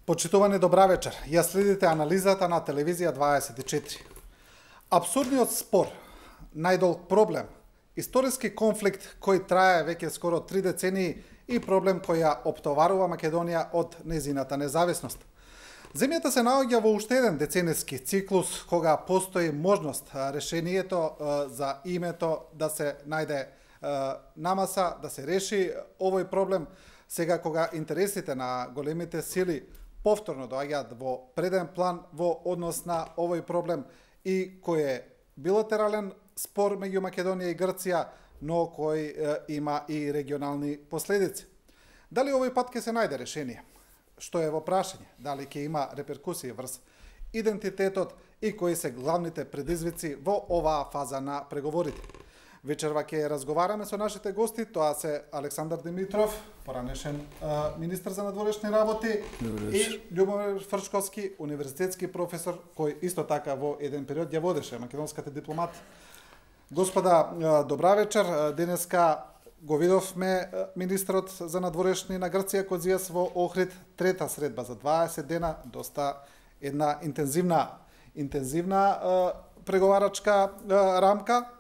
Почитувани, добра вечер. Ја следите анализата на телевизија 24. Абсурдниот спор, најдолг проблем, историски конфликт кој трае веќе скоро 3 децении и проблем кој ја оптоварува Македонија од незината независност. Земјата се наоѓа во уште еден децениски циклус кога постои можност решението за името да се најде намаса, да се реши овој проблем, сега кога интересите на големите сили повторно доаѓаат во преден план во однос на овој проблем и кој е билатерален спор меѓу Македонија и Грција, но кој има и регионални последици. Дали овој пат ќе се најде решение? Што е во прашање? Дали ќе има реперкусии врз идентитетот и кои се главните предизвици во оваа фаза на преговорите? Вечерва ќе разговараме со нашите гости, тоа се Александар Димитров, поранешен министар за надворешни работи, и Љубомир Фрчковски, универзитетски професор, кој исто така во еден период ја водеше македонската дипломатија. Господа, добра вечер. Денеска го видовме министрот за надворешни на Грција Козијас во Охрид, трета средба за 20 дена, доста една интензивна преговарачка рамка.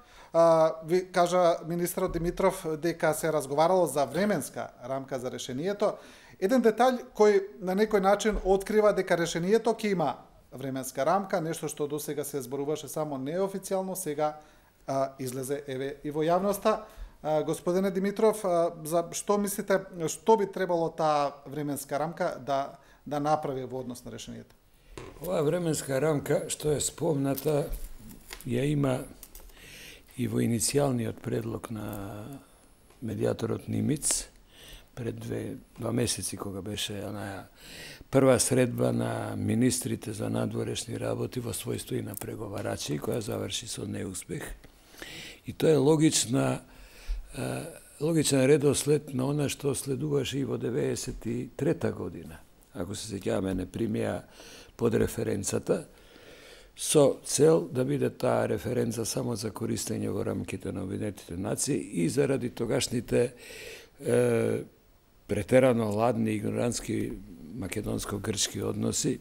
Ви кажа министрот Димитров дека се разговарало за временска рамка за решението. Еден детаљ кој на некој начин открива дека решението ќе има временска рамка, нешто што досега се зборуваше само неофицијално, сега излезе еве и во јавноста. Господине Димитров, за што мислите, што би требало таа временска рамка да направи во однос на решението? Оваа временска рамка, што е спомната, ја има и во иницијалниот предлог на медијаторот Нимиц пред два месеци, кога беше онаја прва средба на министрите за надворешни работи во својство и на преговарачи, која заврши со неуспех. И тоа е логичен редослед на она што следуваше и во 93-та година. Ако се сеќаваме, не примија под референцата, со цел да биде таа референца само за користење во рамките на Обединетите нации и заради тогашните претерано ладни игнорантски македонско-грчки односи,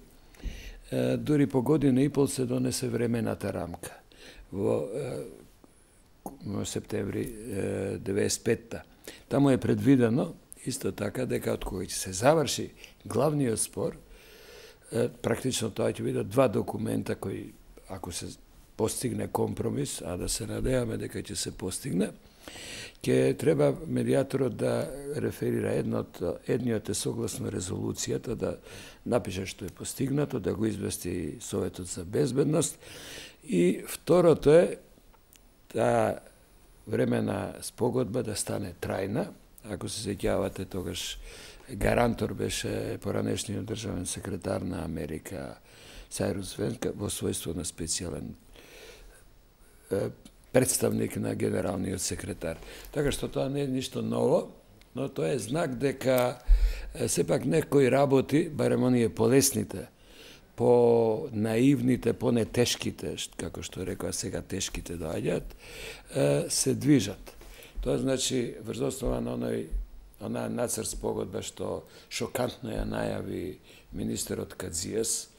дури по година и пол се донесе времената рамка во септември 95-та. Таму е предвидено исто така дека од кој ќе се заврши главниот спор, практично тоа ќе бидат два документа кои, ако се постигне компромис, а да се надеваме дека ќе се постигне, ќе треба медијаторот да реферира едниот е согласно резолуцијата, да напише што е постигнато, да го извести Советот за безбедност, и второто е таа времена спогодба да стане трајна. Ако се сеќавате, тогаш гарантор беше поранешниот државен секретар на Америка Сајрус Венка во својство на специјален представник на генералниот секретар. Така што тоа не е ништо ново, но тоа е знак дека сепак некои работи, барем оние полесните, по-наивните, по-нетешките, како што рекоа сега тешките доаѓаат, се движат. Тоа значи врз основа на онаа нацрт спогодба што шокантно ја најави министерот Кадзијас,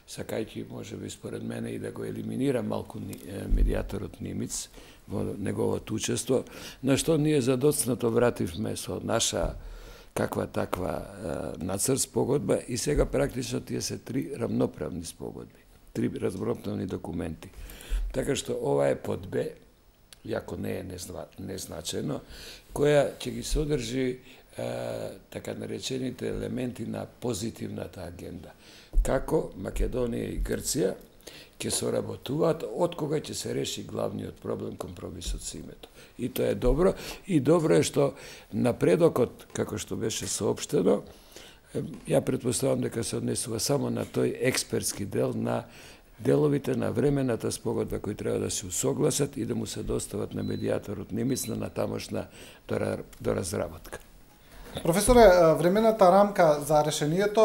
сакајќи можеби според мене и да го елиминира малку медијаторот Нимиц во неговото учество, на што ние задоцнато вративме со наша каква таква нацрт спогодба и сега практично тие се три рамноправни спогодби, три рамноправни документи. Така што ова е под Б, иако не е незначено, која ќе ги содржи така наречените елементи на позитивната агенда. Како Македонија и Грција ќе соработуваат од кога ќе се реши главниот проблем, компромисот со името. И тоа е добро. И добро е што напредокот, како што беше соопштено, ја претпоставам дека се однесува само на тој експертски дел на деловите на времената спогодба кои треба да се усогласат и да му се достават на медијаторот Нимиц на натамошна доразработка. Професоре, времената рамка за решението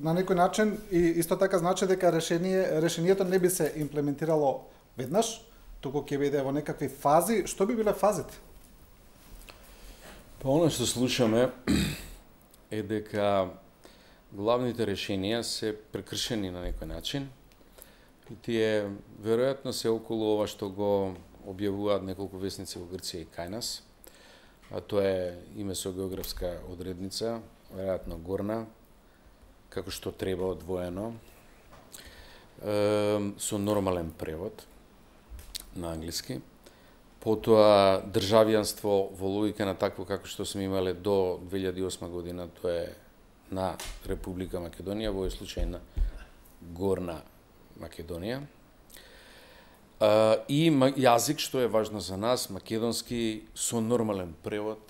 на некој начин и исто така значи дека решението не би се имплементирало веднаш, туку ќе биде во некакви фази. Што би биле фазите? Па оно што слушаме е дека главните решенија се прекршени на некој начин и тие веројатно се околу ова што го објавуваат неколку весници во Грција и кај нас, а тоа е име со географска одредница, веројатно горна, како што треба одвоено, со нормален превод на англиски. Потоа државјанство во логика на такво како што сме имале до 2008 година, тоа е на Република Македонија, во овој случај на Горна Македонија. И јазик, што е важно за нас, македонски со нормален превод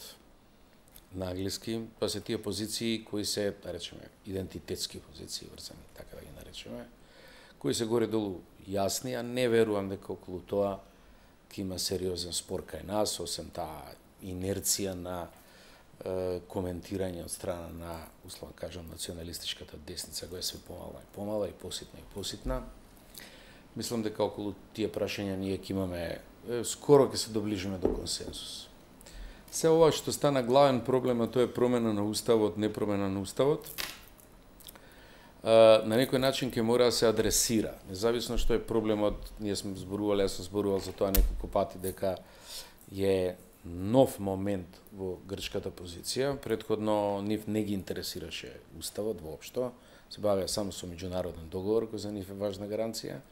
на англиски. Тоа се тие позиции кои се, да речеме, идентитетски позиции, врзани, така да ги наречеме, кои се горе-долу јасни, а не верувам дека околу тоа ќе има сериозен спор кај нас, освен таа инерција на коментирање од страна на, условно кажам, националистичката десница, која е све помала и помала и поситна и поситна. Мислам дека околу тие прашања ние ќе имаме, скоро ќе се доближиме до консенсус. Се ова што стана главен проблем, а тоа е промена на уставот, не промена на уставот, на некој начин ќе мора да се адресира. Независно што е проблемот, ние сме зборувале, јас сум зборувал за тоа неколку пати, дека е нов момент во грчката позиција. Претходно нив не ги интересираше уставот воопшто, се бавеа само со меѓународен договор, кој за нив е важна гаранција.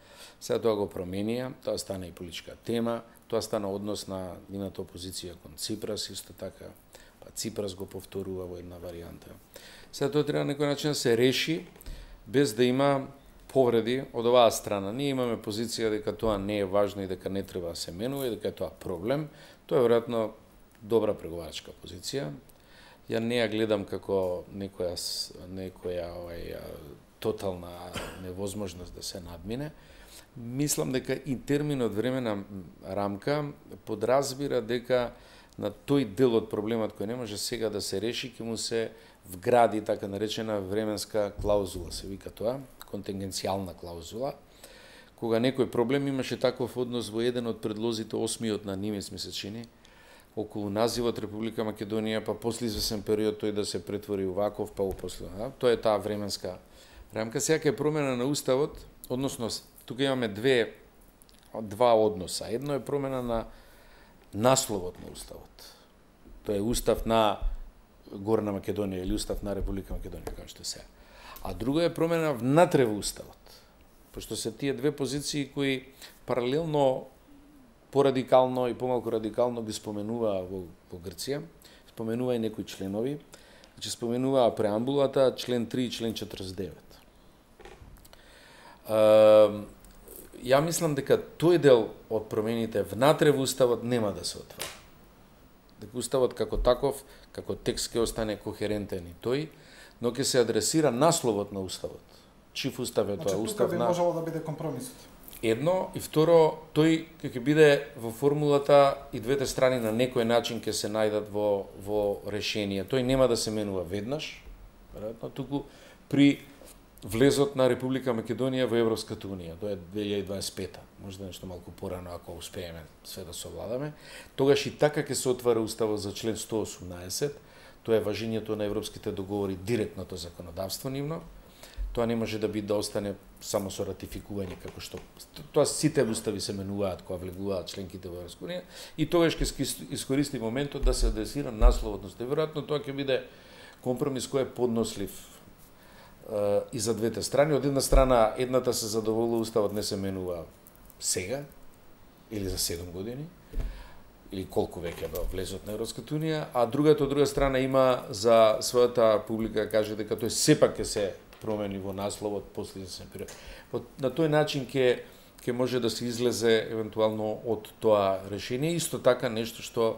Сега тоа го променија, тоа стана и политичка тема, тоа стана однос на нивната опозиција кон Ципрас, исто така, па Ципрас го повторува во една варијанта. Сега тоа треба на некој начин да се реши, без да има повреди од оваа страна. Ние имаме позиција дека тоа не е важно и дека не треба да се менува и дека е тоа проблем. Тоа е веројатно добра преговарачка позиција. Ја не ја гледам како некоја тотална невозможност да се надмине. Мислам дека и терминот времена рамка подразбира дека на тој дел од проблемот кој не може сега да се реши, ќе му се вгради така наречена временска клаузула, се вика тоа, контингенцијална клаузула. Кога некој проблем имаше таков однос во еден од предлозите, 8-миот на Нимец ми се чини, околу називот Република Македонија, па после извесен период тој да се претвори уваков, па после. Тоа е таа временска рамка. Сега е промена на уставот, односно тука имаме два односа. Едно е промена на насловот на уставот. Тоа е устав на Горна Македонија или устав на Република Македонија, како што се. А друго е промена внатре во уставот. Пошто се тие две позиции кои паралелно порадикално и помалку радикално ги споменува во Грција, споменува и некои членови, значи споменува преамбулата, член 3 и член 49. Ја мислам дека тој дел од промените внатре во уставот нема да се отвори. Дека уставот како таков, како текст ќе остане кохерентен и тој, но ќе се адресира насловот на уставот. Чив устав е тоа? Значи, тука би можело да биде компромисот. Едно, и второ, тој ќе биде во формулата и двете страни на некој начин ќе се најдат во решение. Тој нема да се менува веднаш, веројатно, туку при влезот на Република Македонија во Европската унија. Тоа е 2025-та, можда нешто малку порано ако успееме све да совладаме. Тогаш и така ќе се отвара уставот за член 118. Тоа е важењето на европските договори, директното законодавство нивно. Тоа не може да остане само со ратификување, како што тоа сите устави се менуваат кога влегуваат членките во Европска унија, и тогаш ќе искористи моментот да се адресира насловот. Веројатно тоа ќе биде компромис кој е поднослив и за двете страни. Од една страна, едната се задоволува, уставот не се менува сега или за 7 години, или колку веќе до влезот на Европската унија, а другата од друга страна има за својата публика каже дека тој сепак ќе се промени во насловот после извесен период. На тој начин ќе може да се излезе евентуално од тоа решение. Исто така нешто што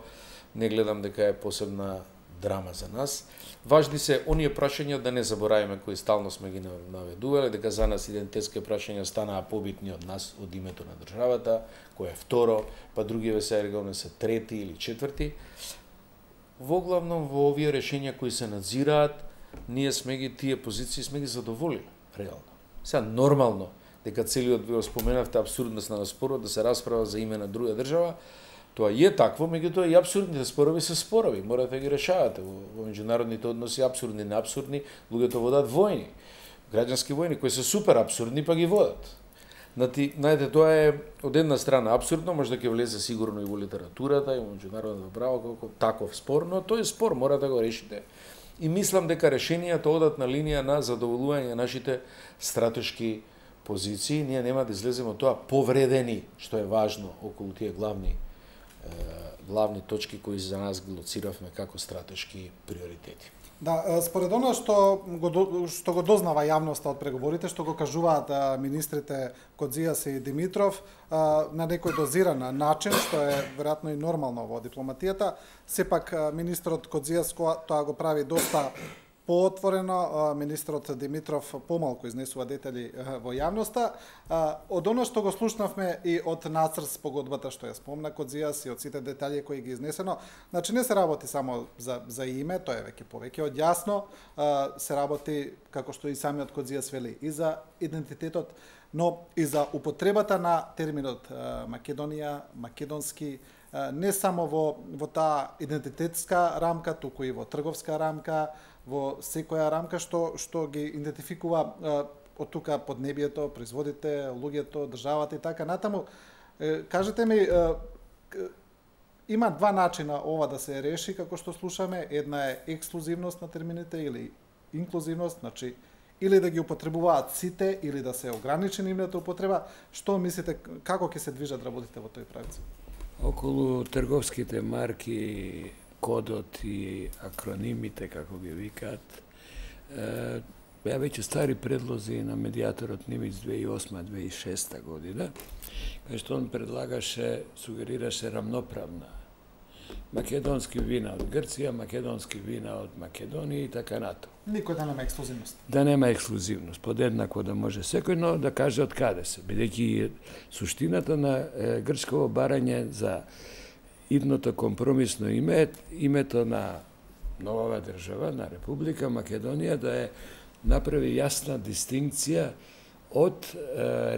не гледам дека е посебна драма за нас. Важни се оние прашања, да не забораваме, кои стално сме ги наведувале, дека за нас идентитетски прашања станаа побитни од нас, од името на државата, кој е второ, па другиве се регулно се трети или четврти. Воглавно во овие решенија кои се надзираат, ние сме ги тие позиции сме ги задоволили реално. Сега нормално дека целиот ви споменавте абсурдност на спорот да се расправа за име на друга држава, Тоа е такво, меѓутоа и апсурдните спорови се спорови, морате да ги решавате. Во меѓународните односи апсурдни, неапсурдни, луѓето водат војни, граѓански војни кои се супер апсурдни па ги водат. Знаете, тоа е од една страна апсурдно, може да ќе влезе сигурно и во литературата, и во меѓународното право како таков спор, но тој спор мора да го решите. И мислам дека решенијата одат на линија на задоволување на нашите стратешки позиции. Ние нема да излеземе од тоа повредени, што е важно околу тие главни точки кои за нас ги лоциравме како стратешки приоритети. Да, според она што го дознава јавноста од преговорите, што го кажуваат министрите Кодзијас и Димитров, на некој дозиран начин, што е веројатно и нормално во дипломатијата, сепак министрот Кодзијас тоа го прави доста поотворено, министрот Димитров помалку изнесува детали во јавноста. Од оно што го слушнавме и од нацрт спогодбата што ја спомна Кодзијас и од сите детали кои ги изнесено, значи не се работи само за име, тоа е веќе повеќе од јасно, се работи, како што и самиот Кодзијас вели, и за идентитетот, но и за употребата на терминот Македонија, македонски, не само во таа идентитетска рамка, туку и во трговска рамка, во секоја рамка што ги идентификува од тука поднебието, производите, луѓето, државата и така натаму. Кажете ми, има два начина ова да се реши, како што слушаме. Една е ексклузивност на термините или инклузивност, значи или да ги употребуваат сите, или да се ограничи нивната употреба. Што мислите, како ќе се движат работите во тој правец? Околу трговските марки, кодот и акронимите, како ги викаат, беа веќе стари предлози на медијаторот Нимиц 2008-2006 година, кај што он предлагаше, сугерираше рамноправна. Македонски вина од Грција, македонски вина од Македонија и така нато. Никој да нема ексклузивност. Да нема ексклузивност, подеднакво да може секој, но да каже од каде се, бидејќи суштината на грчково барање за идното компромисно име, името на новава држава, на Република Македонија, да е направи јасна дистинкција од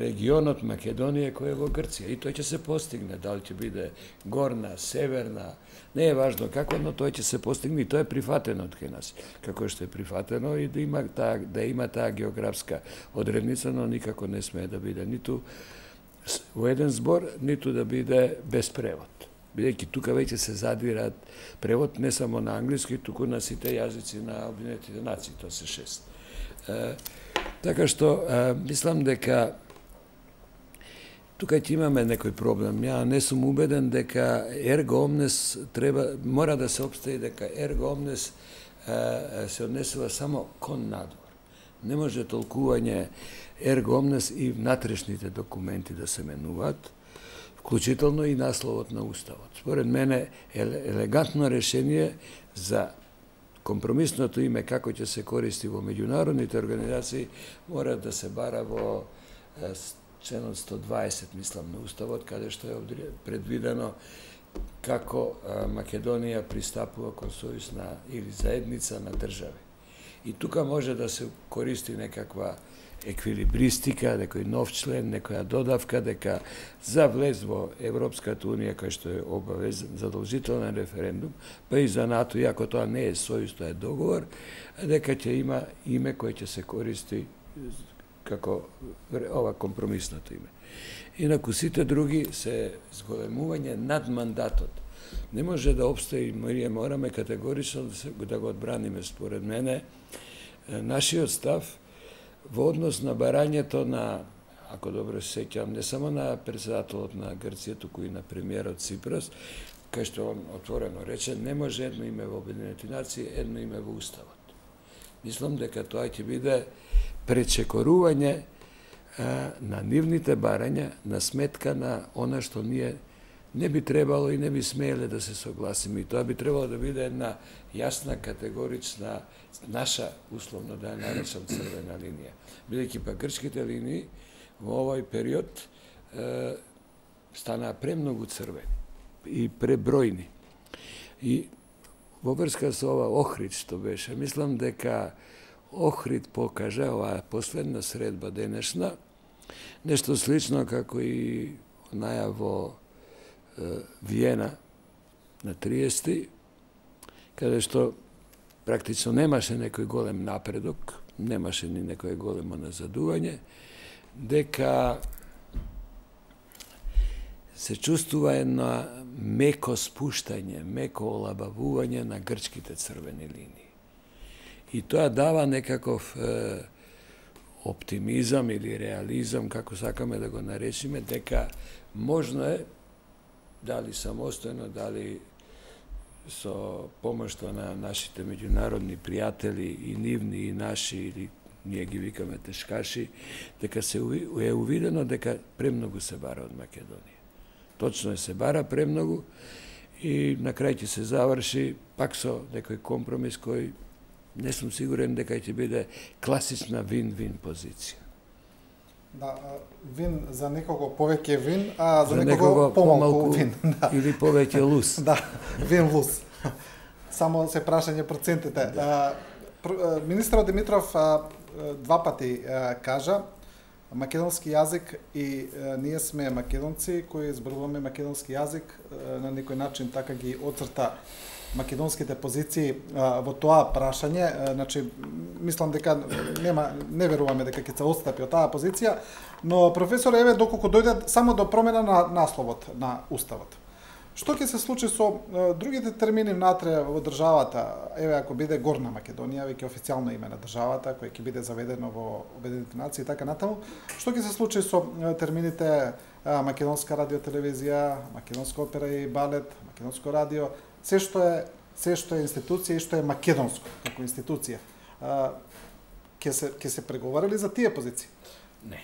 регионот Македонија кој е во Грција. И тој ќе се постигне, дали ќе биде горна, северна, не е важно како, но тој ќе се постигне и тоа е прифатено од кај нас. Како што е прифатено и да има таа географска одредница, но никако не смее да биде ниту во еден збор, ниту да биде без превод. Бидејќи тука веќе се задвираат превод не само на англиски, туку на сите јазици на Обединетите нации, тоа се 6. Така што, мислам дека тука ќе имаме некој проблем. Ја не сум убеден дека ерго омнес мора да се обстои дека ерго омнес се однесува само кон надвор. Не може толкување ерго омнес и внатрешните документи да се менуваат, вклучително и насловот на Уставот. Според мене елегантно решение за компромисното име како ќе се користи во меѓународните организации мора да се бара во членот 120, мислам, на Уставот, каде што е предвидено како Македонија пристапува кон сојуз или заедница на држави. И тука може да се користи некаква еквилибристика, некој нов член, некоја додавка, дека за влез во Европската унија, кај што е обавезен задолжителен референдум, па и за НАТО, иако тоа не е сојуз, тоа е договор, дека ќе има име кој ќе се користи како ова компромисното име. Инаку сите други се зголемување над мандатот. Не може да обстои, ние мораме категорично да го одбраниме, според мене, нашиот став во однос на барањето на, ако добро се сеќавам, не само на председателот на Грција, туку и на премиерот Ципрас, кај што он отворено рече, не може едно име во Обединетите нации, едно име во Уставот. Мислам дека тоа ќе биде пречекорување на нивните барања на сметка на она што ние не би требало и не би смееле да се согласиме. И тоа би требало да биде една јасна, категорична, наша, условно да ја наречам, црвена линија. Бидејќи па грчките линии во овој период станаа премногу црвени и пребројни. И во врска со ова Охрид што беше, мислам дека Охрид покажа, оваа последна средба денешна, нешто слично како и наја во Виена на 30, каде што практично немаше некој голем напредок, немаше ни некој големо назадување, дека се чувствува една меко спуштање, меко олабавување на грчките црвени линии. И тоа дава некаков оптимизам или реализам, како сакаме да го наречиме, дека можно е, дали самостојно, дали со помошта на нашите меѓународни пријатели, и нивни, и наши, или ние ги викаме тешкаши, дека се е увидено дека премногу се бара од Македонија. Точно е, се бара премногу и на крај ќе се заврши пак со некој компромис кој не сум сигурен дека ќе биде класична вин-вин позиција. Да, вин за некого повеќе вин, а за некого помалку вин. Да. Или повеќе лус. Да, вин-лус. Само се прашање процентите. Министерот Димитров два пати кажа македонски јазик и ние сме македонци кои зборуваме македонски јазик, на некој начин така ги оцрта македонските позиции во тоа прашање. Значи, мислам дека не веруваме дека ќе се отстапи од таа позиција, но професор, еве, доколку дојде само до промена на насловот на Уставот. Што ќе се случи со другите термини внатре во државата? Еве, ако биде Горна Македонија, веќе официјално име на државата, кој ќе биде заведено во Обединетите нации и така натаму, што ќе се случи со термините македонска радиотелевизија, македонска опера и балет, македонско радио, се што е институција и што е македонско како институција? Ќе се преговарали за тие позиции? Не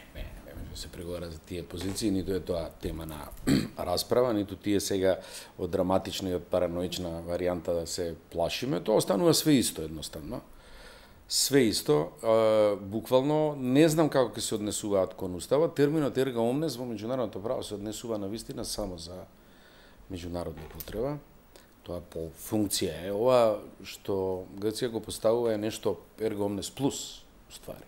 се преговара за тие позиции, ниту е тоа тема на расправа, ниту тие сега од драматична и од параноична варијанта да се плашиме, тоа останува све исто едноставно. Све исто, буквално, не знам како ќе се однесуваат кон Уставот, терминот erga omnes во меѓународното право се однесува на вистина само за меѓународна потреба. Тоа по функција е. Ова што Грција го поставува е нешто erga omnes плюс, уствари.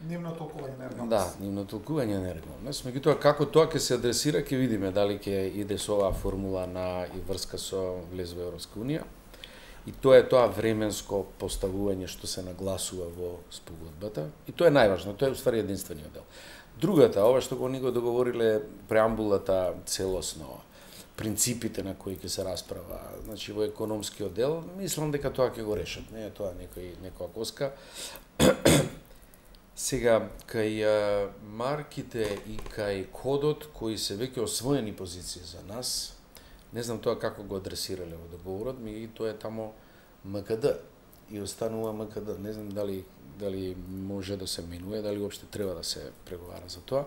Нивно толкување на erga omnes. Да, нивно толкување на erga omnes. Меѓутоа, како тоа ќе се адресира, ќе видиме дали ќе иде со оваа формула на и врска со влез во Европска унија. И тоа е тоа временско поставување што се нагласува во спогодбата. И тоа е најважно, тоа е уствари единствениот дел. Другата, ова што ни го договориле преамбулата целосно, принципите на кои ќе се расправа, значи во економскиот дел, мислам дека тоа ќе го решат, не е тоа некоја коска. Сега, кај марките и кај кодот, кои се веќе освоени позиции за нас, не знам тоа како го адресирале во договорот, и тоа е тамо МКД и останува МКД. Не знам дали може да се менува, дали уопште треба да се преговара за тоа.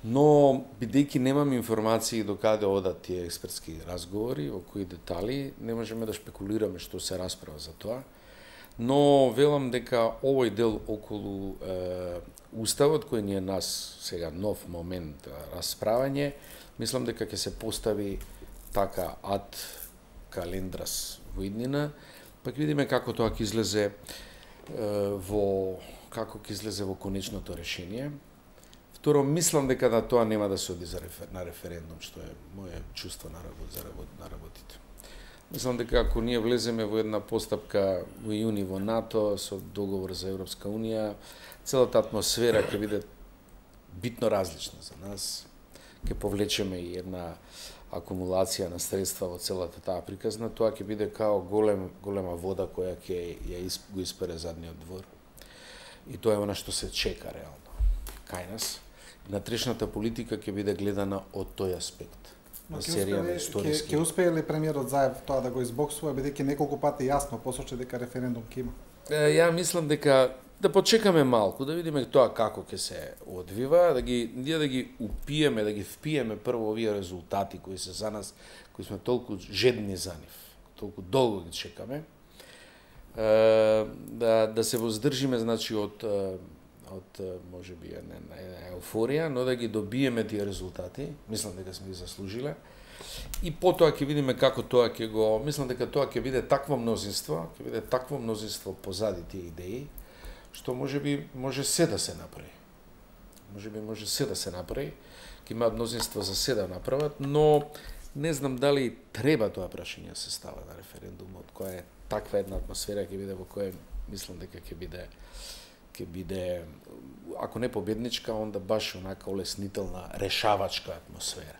Но, бидејќи немам информации до каде одат тие експертски разговори, во кои детали, не можеме да шпекулираме што се расправа за тоа. Но велам дека овој дел околу Уставот, кој ни е нас сега нов момент расправање, мислам дека ќе се постави така ад календрас во иднина, пак видиме како тоа ќе излезе во конечното решение. Второ, мислам дека на тоа нема да се оди на референдум, што е моје чувство на работите. Мислам дека ако ние влеземе во една постапка во јуни во НАТО со договор за Европска унија, целата атмосфера ќе биде битно различна за нас. Ќе повлечеме и една акумулација на средства во целата таа приказна, тоа ќе биде као голема вода која ќе го испере задниот двор. И тоа е она што се чека реално кај нас. Внатрешната политика ќе биде гледана од тој аспект. На серија на историски. Ќе успее ли премиерот Заев тоа да го избоксува, бидејќи неколку пати јасно посочи дека референдум ќе има? Ја мислам дека да почекаме малку, да видиме тоа како ќе се одвива, ние да ги упиеме, да ги впиеме прво овие резултати кои се за нас, кои сме толку жедни за нив, толку долго ги чекаме. Да се воздржиме, значи, од можеби една еуфорија, но да ги добиеме тие резултати, мислам дека сме ги заслужиле. И потоа ќе видиме како тоа ќе го, мислам дека тоа ќе биде такво мнозинство позади тие идеи, што може се да се направи. може се да се направи, ќе имаат мнозинство за се да направат, но не знам дали треба тоа прашање да се става на референдумот, која е таква една атмосфера ќе биде во која мислам дека ќе биде ако не победничка, онда баш онака олеснителна, решавачка атмосфера.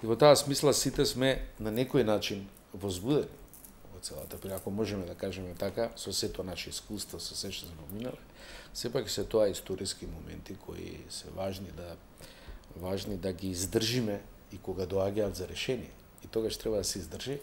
И во таа смисла сите сме на некој начин возбудени во целата прилика, ако можеме да кажеме така, со сето наше искуство, со се што сме минале, сепак се тоа историски моменти кои се важни да ги издржиме и кога доаѓаат за решение. И тогаш треба да се издржи,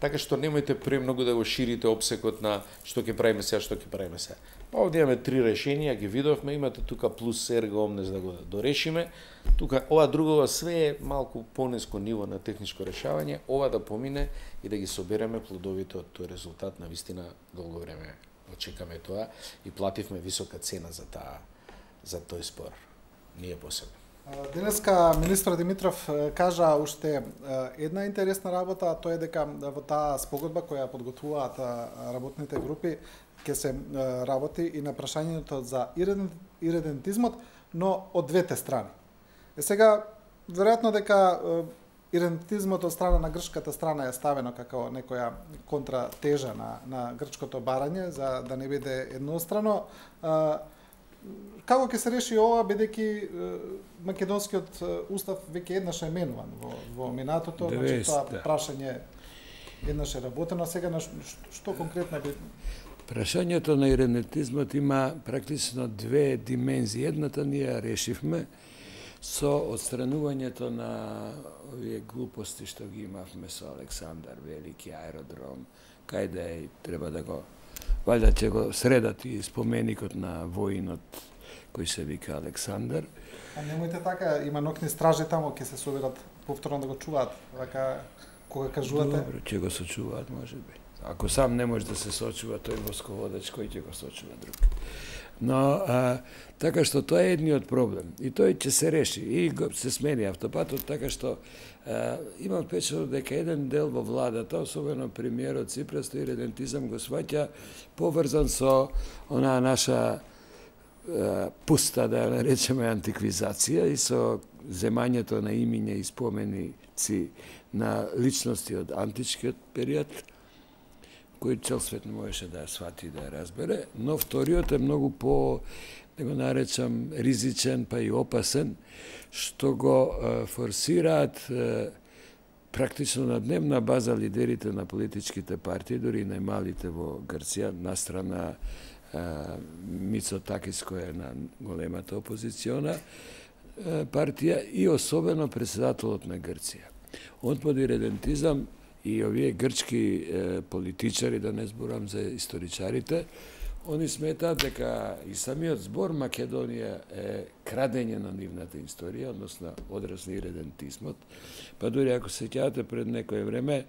така што немојте премногу да го ширите опсекот на што ќе правиме сега. Па овде имаме 3 решенија, ги видовме, имате тука плюс ерго омнес да го дорешиме. Тука ова другова све е малку пониско ниво на техничко решавање, ова да помине и да ги собереме плодовите од тој резултат. На вистина долго време очекаме тоа и плативме висока цена за тој спор. Ние посебно. Денеска министр Димитров кажа уште една интересна работа, а тоа е дека во таа спогодба која подготвуваат работните групи ќе се работи и на прашањето за иридентизмот, но од двете страни. Сега, веројатно дека иридентизмот од страна на грчката страна е ставено како некоја контратежа на грчкото барање, за да не биде еднострано. Како ќе се реши ова, бидејќи македонскиот устав веќе еднаш е менуван во минатото, значи тоа прашање еднаш е работено, сега на што конкретно би... Прашањето на иридентизмот има практично две димензии. Едната ние ја решивме со отстранувањето на овие глупости што ги имавме со Александар Велики, аеродром, кај да е, треба да го валјда ќе го средат и споменикот на воинот кој се вика Александар. А немојте така, има нокни стражи тамо, ќе се соберат повторно да го чуваат, вака кога кажувате? Добро, ќе го сочуваат можеби. Ако сам не може да се сочува тој восководач, кој ќе го сочува друг. Но така што тоа е едниот проблем и тој ќе се реши и се смени автопатот, така што имам впечаток дека еден дел во владата, особено премиерот Ципрас, тој иридентизам го сваќа поврзан со онаа наша пуста, да ја речеме, антиквизација и со земањето на имиња и споменици на личности од античкиот период, кој цел свет не можеше да ја свати и да ја разбере, но вториот е многу по, да го наречам, ризичен, па и опасен, што го форсираат практично на дневна база лидерите на политичките партии, дури и најмалите во Грција, настрана Мицотакис, која е на големата опозициона партија, и особено председателот на Грција. Он под иридентизам и овие грчки политичари, да не зборам за историчарите, они сметаат дека и самиот збор Македонија е крадење на нивната историја, односно одраз на иридентизмот. Па дури ако се сеќавате пред некое време,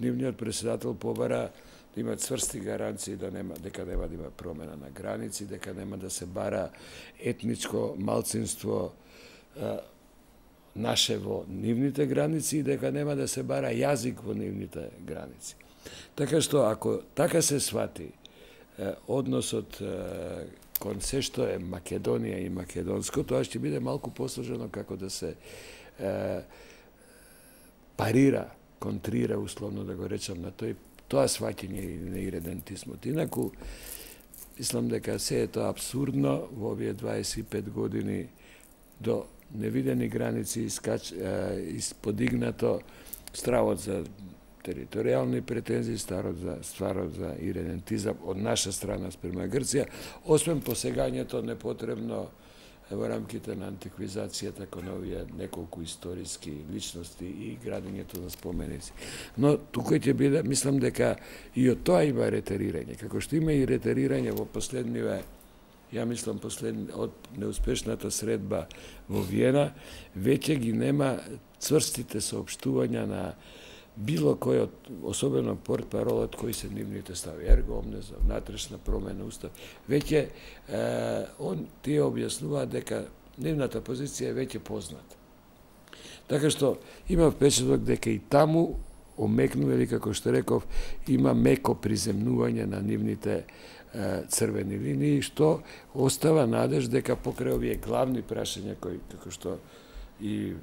нивниот председател побара да има цврсти гаранции дека нема да има промена на граници, дека нема да се бара етничко малцинство наше во нивните граници и дека нема да се бара јазик во нивните граници. Така што, ако така се свати односот кон се што е Македонија и македонско, тоа ќе биде малку посложено како да се парира, контрира, условно да го речам, на тоа сваќање на иридентизмот. Инаку, мислам дека се е тоа абсурдно во овие 25 години до невидени граници исподигнато стравот за територијални претензии, стварот за иридентизам од наша страна спрема Грција, освен посегањето непотребно во рамките на антиквизацијата кон овие неколку историски личности и градењето на споменици. Но тука ќе биде, мислам дека и од тоа има ретерирање, како што има и ретерирање во последниве, ја мислам од неуспешната средба во Виена, веќе ги нема цврстите соопштувања на било кој од, особено портпаролот, кои се нивните стави, ерго омнес, внатрешна промена устав, веќе тие објаснуваат дека нивната позиција е веќе позната. Така што има впечаток дека и таму омекнува, или како што реков, има меко приземнување на нивните црвени линии, што остава надеж дека покрај овие главни прашања кои, како што и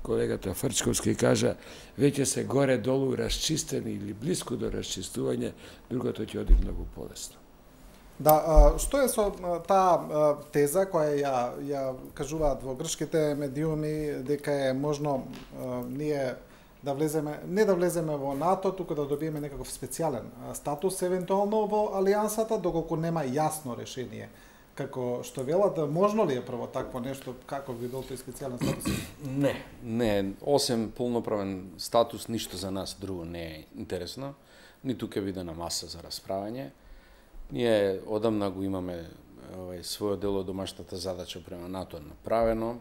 колегата Фрчковски кажа, веќе се горе-долу расчистени или близко до расчистување, другото ќе оди многу полесно. Да, што е со таа теза која ја кажуваат во грчките медиуми дека е можно ние да влеземе, не да влеземе во НАТО, туку да добиеме некаков специјален статус евентуално во алијансата, доколку нема јасно решение. Како што велат, можно ли е прво такво нешто, како би бил тој специјален статус? Не, осем полноправен статус, ништо за нас друго не е интересно, ниту ќе биде на маса за расправање. Ние одамна го имаме својот дел од домашната задача према НАТО направено,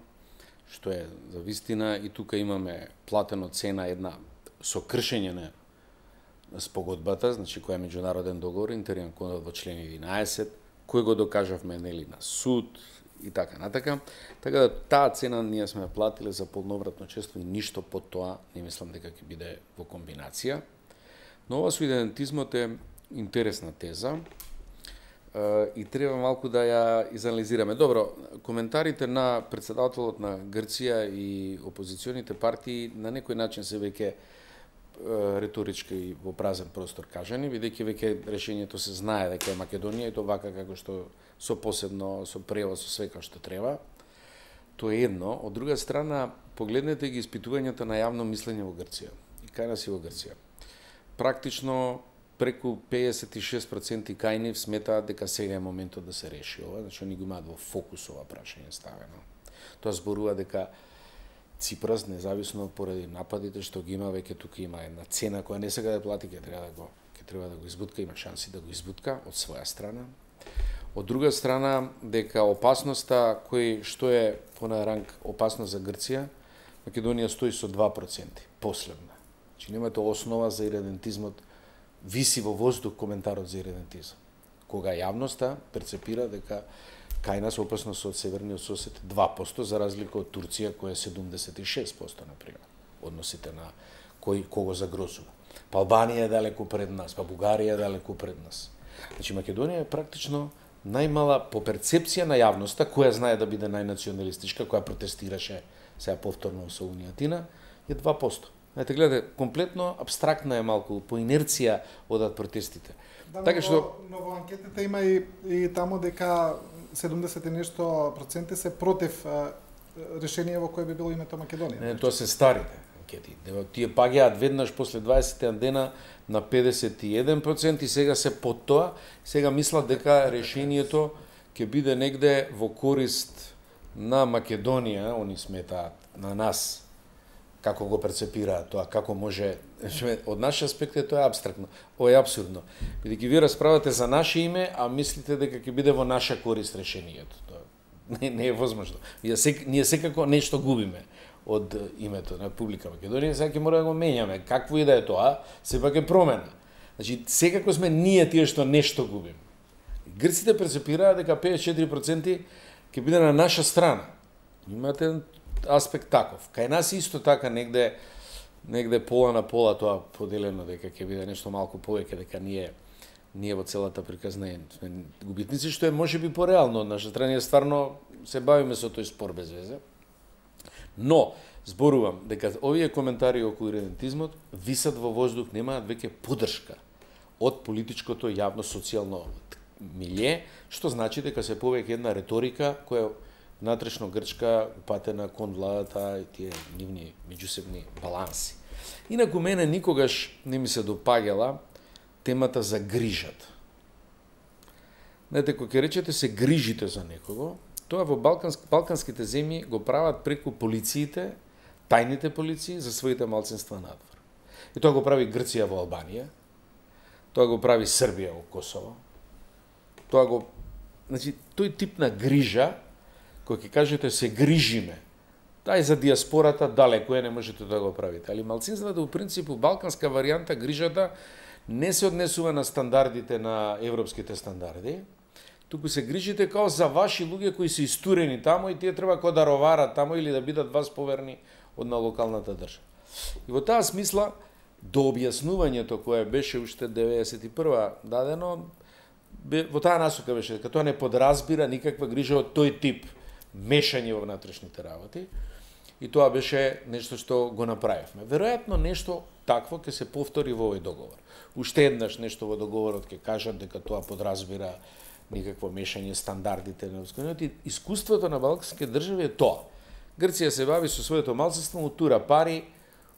што е за вистина, и тука имаме платено цена една со кршење на спогодбата, значи која е меѓународен договор, интерен во член 11, кој го докажавме нели на суд и така натака. Така да таа цена ние сме платиле за полновратно членство и ништо под тоа не мислам дека ќе биде во комбинација. Но ова со идентизмот е интересна теза и треба малку да ја изанализираме. Добро, коментарите на председателот на Грција и опозиционите партии на некој начин се веќе реторички и во празен простор кажани, бидејќи веќе решението се знае дека е Македонија и тоа вака како што со посебно, со превоз, со све како што треба. Тоа е едно. Од друга страна, погледнете ги испитувањата на јавно мислење во Грција и кај нас и во Грција. Практично преку 56% кај нив сметаат дека сега е моментот да се реши ова, значи они го имаат во фокус ова прашање ставено. Тоа зборува дека Ципрас, независно поради нападите што ги има, веќе тука има една цена која не сега да плати, ќе треба да го избутка, има шанси да го избутка од своја страна. Од друга страна, дека опасноста кој што е по на ранг опасност за Грција, Македонија стои со 2% последна. Значи немате основа за иредентизмот, виси во воздух коментарот за иредентизам. Кога јавноста перцепира дека кај нас опасност од северниот сосед 2%, за разлика од Турција која е 76%, например, односите на кого загрозува. Па Албанија е далеку пред нас, па Бугарија е далеку пред нас. Значи Македонија е практично најмала по перцепција на јавноста, која знае да биде најнационалистичка, која протестираше сега повторно со Унијатина, е 2%. Знаете, гледате, комплетно абстрактна е малку, по инерција одат протестите. Да, така што но во анкетите има и таму дека 70 и нешто проценти се против решение во кое би било името Македонија. Не, тоа се старите анкети. Тие паѓаат веднаш после 20 дена на 51% и сега се под тоа. Сега мислат дека решението ќе биде негде во корист на Македонија, они сметаат на нас, како го перцепираат тоа, како може, од наш аспект тоа е абстрактно, ова е абсурдно. Бидејќи вие расправате за наше име, а мислите дека ќе биде во наша корист решението. Тоа не е возможно. Ние секако нешто губиме од името на Република Македонија, сега ќе мора да го менјаме. Какво и да е тоа, сепак е промена. Значи, секако сме ние тие што нешто губиме. Грците перцепираат дека 54% ќе биде на наша страна. Имате аспект таков. Кај нас исто така негде пола на пола тоа поделено, дека ќе биде нешто малку повеќе, дека ние во целата приказна сме губитници, што е можеби пореално од наша страна. Ние стварно се бавиме со тој спор без везе. Но зборувам дека овие коментари околу иредентизмот висат во воздух, немаат веќе поддршка од политичкото јавно социјално милје, што значи дека се повеќе една реторика која внатрешно грчка упатена кон владата и тие нивни меѓусебни баланси. Инаку мене никогаш не ми се допаѓала темата за грижата. Знаете, кога речете се грижите за некого, тоа во балканските земји го прават преку полициите, тајните полиции за своите малцинства надвор. И тоа го прави Грција во Албанија, тоа го прави Србија во Косово. Значи, тој тип на грижа, кој ќе кажете се грижиме, тај за диаспората далеко не можете да го правите. Али малцинствата, во принципу, балканска варијанта, грижата не се однесува на стандардите, на европските стандарди, туку се грижите као за ваши луѓе кои се истурени тамо и тие треба да роварат тамо или да бидат вас поверни од на локалната држава. И во таа смисла, до објаснувањето кое беше уште 91 дадено, во таа насока беше дека тоа не подразбира никаква грижа од тој тип мешање во внатрешните работи. И тоа беше нешто што го направивме. Веројатно нешто такво ќе се повтори во овој договор. Уште еднаш нешто во договорот ќе кажат дека тоа подразбира никакво мешање стандардите на Европскиот. Искуството на балканските држави е тоа. Грција се бави со своето малцинство, утура пари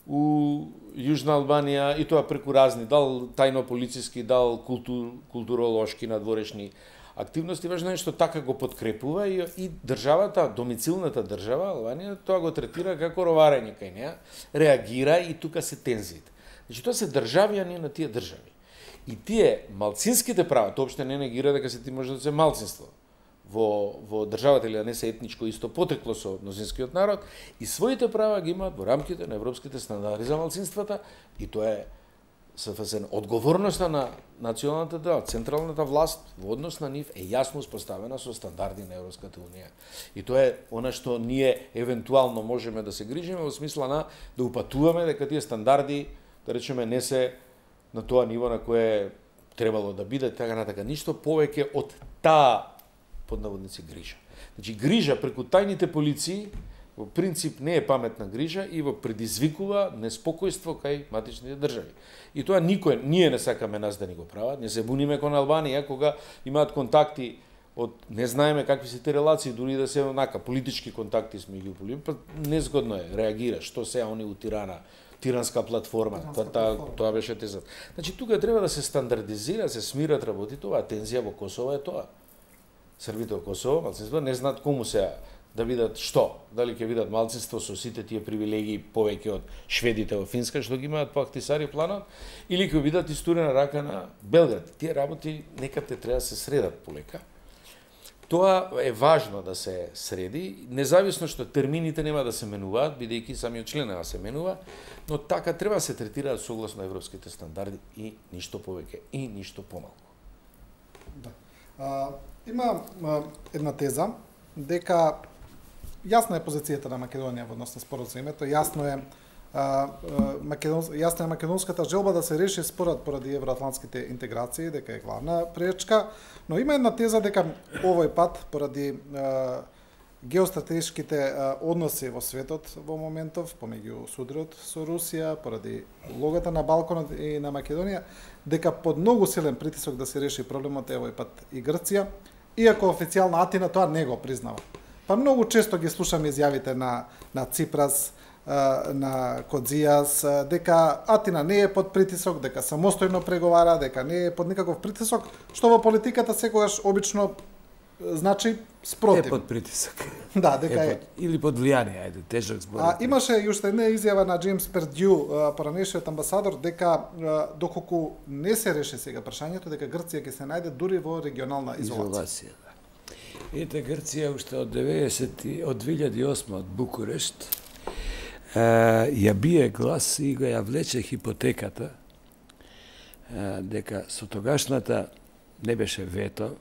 у Јужна Албанија и тоа преку разни, дал тајно полициски, дал културолошки надворешни активности. Важно е што така го подкрепува и државата, домицилната држава, Албанија, тоа го третира како роварење кај неа, реагира и тука се тензиите. Значи, тоа се државјани на тие држави. И тие малцинските права, тоа опште не негира дека ти може да се малцинство во државата или да не се етничко исто потекло со мнозинскиот народ, и своите права ги имаат во рамките на европските стандарди за малцинствата, и тоа е СФС. Одговорноста на националната држава, централната власт во однос на нив е јасно успоставена со стандарди на Европската унија. И тоа е она што ние евентуално можеме да се грижиме во смисла на да упатуваме дека тие стандарди, да речеме, не се на тоа ниво на кое требало да биде, така натака, ништо повеќе од таа под наводници грижа. Значи, грижа преку тајните полиции во принцип не е паметна грижа и во предизвикува неспокојство кај матичните држави. И тоа ние не сакаме нас да ни го прават, не се буниме кон Албанија кога имаат контакти од не знаеме какви се те релации, дури да се онака политички контакти сме ги уполим, па незгодно е, реагира, што се они у тиранска платформа, тоа беше тезат. Значи, тука треба да се стандардизира, се смират работите, оваа тензија во Косово е тоа. Србите во Косово, малцинство, не знаат кому се да видат што, дали ќе видат малцинство со сите тие привилегии повеќе од шведите во Финска, што ги имаат по Ахтисари планот, или ќе видат истурена рака на Белград. Тие работи некаде треба да се средат полека. Тоа е важно да се среди, независно што термините нема да се менуваат, бидејќи самиот член нема се менува, но така треба да се третираат согласно европските стандарди и ништо повеќе и ништо помалку. Да. Има една теза дека јасна е позицијата на Македонија во однос на споразумето, јасна е македонската желба да се реши спорот поради евроатлантските интеграции, дека е главна пречка, но има една теза дека овој пат поради геостратешките односи во светот во моментов, помеѓу судрот со Русија, поради улогата на Балканот и на Македонија, дека под многу силен притисок да се реши проблемот е овој пат и Грција, иако официјално Атина тоа не го признава. Па многу често ги слушаме изјавите на Ципрас, на Кодзијас, дека Атина не е под притисок, дека самостојно преговара, дека не е под никаков притисок, што во политиката секогаш обично значи спротив. Е под притисок. Да, дека е. Или под влијание, ајде, тежок збор. Имаше и уште една изјава на Джеймс Пердју, поранешниот амбасадор, дека доколку не се реши сега прашањето, дека Грција ќе се најде дури во регионална изолација. Да. Ете, Грција уште од 2008 од Букурешт ја бие глас и го ја влече хипотеката дека со тогашната не беше вето,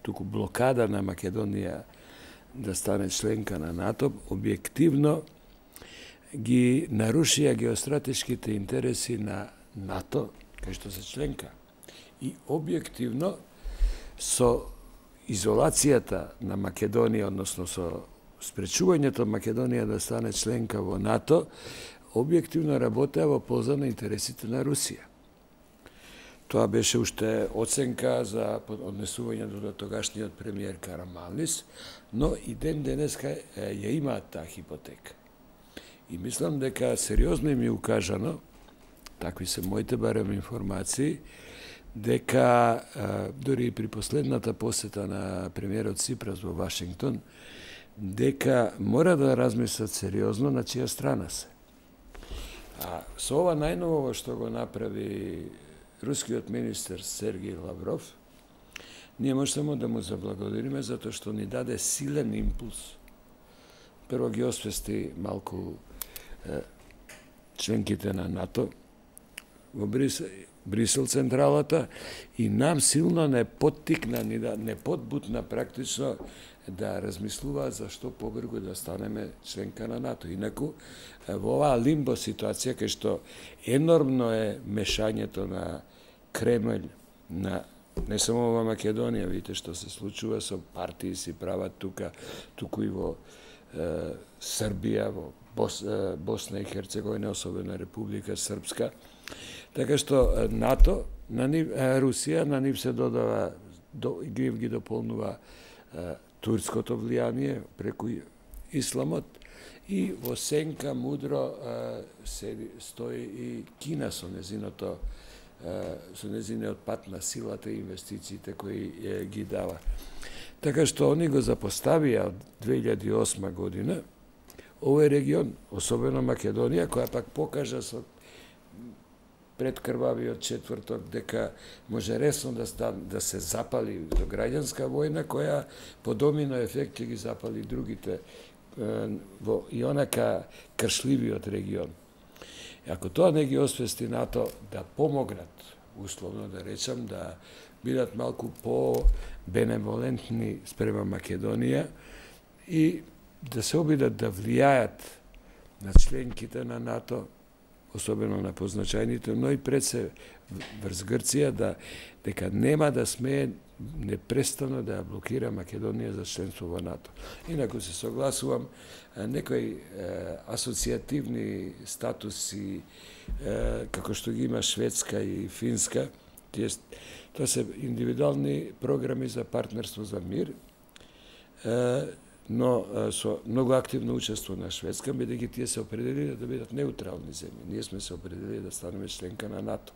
туку блокада на Македонија да стане членка на НАТО, објективно ги нарушија геостратешките интереси на НАТО, кај што се членка. И објективно со изолацијата на Македонија, односно со спречувањето Македонија да стане членка во НАТО, објективно работеа во полза на интересите на Русија. Тоа беше уште оценка за однесувањето до тогашниот премиер Караманлис, но и ден денеска ја имаат таа хипотека. И мислам дека сериозно им е укажано, такви се моите барем информации, дека дори и при последната посета на премиерот Ципрас во Вашингтон, дека мора да размислат сериозно на чија страна се. А со ова најново што го направи рускиот министер Сергеј Лавров, ние може само да му заблагодариме затоа што ни даде силен импулс. Прво ги освести малку членките на НАТО во Брисел централата и нам силно не поттикна, не подбутна практично да размислува за што побрзо да станеме членка на НАТО. Инаку, во оваа лимбо ситуација, кај што енормно е мешањето на Кремљ, на не само во Македонија, видите што се случува со партии си прават туку и во Србија, во Босна и Херцеговина, особено Република Српска. Така што НАТО, Русија, на нив се додава, ги дополнува турското влијание преку исламот, и во сенка мудро стои и Кина со незиниот пат на силата и инвестициите кои ги дава. Така што они го запоставија од 2008 година овој регион, особено Македонија, која пак покажа со предкрвавиот четврток дека може ресно да се запали до граѓанска војна, која по домино ефект ќе ги запали другите во и онака кршливиот регион. И ако тоа не ги освести НАТО да помогнат, условно да речам, да бидат малку по-беневолентни спрема Македонија и да се обидат да влијаат на членките на НАТО, особено на позначајните, но и пред се врз Грција, дека нема да смее непрестано да ја блокира Македонија за членство во НАТО. Инаку се согласувам, некои асоцијативни статуси, како што ги има Шведска и Финска, тоа се индивидуални програми за партнерство за мир, но со многу активно учество на Шведска, бидејќи тие се определиле да бидат неутрални земји. Ние сме се определили да станеме членка на НАТО.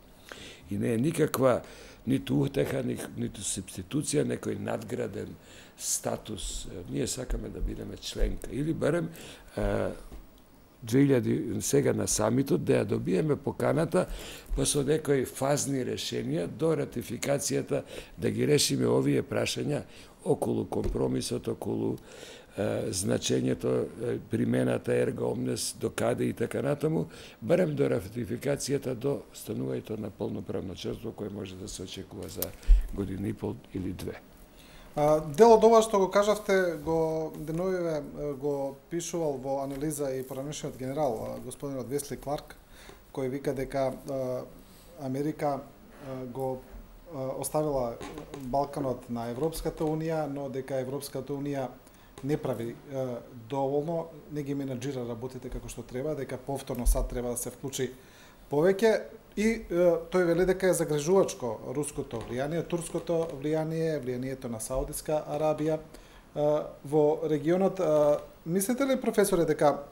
И не е никаква ниту утеха, ниту субституција, некој надграден статус. Ние сакаме да бидеме членка. Или барем 2000 сега на самитот да ја добиеме поканата, па со некои фазни решенија до ратификацијата да ги решиме овие прашања околу компромисот, околу значењето, примената ерго омнес, до каде и така натаму, барем до ратификацијата, до станувањето на полноправно членство кој може да се очекува за година и пол или две. Дел од ова што го кажавте, деновиве го пишувал во анализа и поранешниот генерал, господинот Весли Кларк, кој вика дека Америка го оставила Балканот на Европската Унија, но дека Европската Унија не прави доволно, не ги менаџира работите како што треба, дека повторно сад треба да се вклучи повеќе, и тој вели дека е загрижувачко руското влијание, турското влијание, влијанието на Саудитска Арабија во регионот. Мислите ли, професоре, дека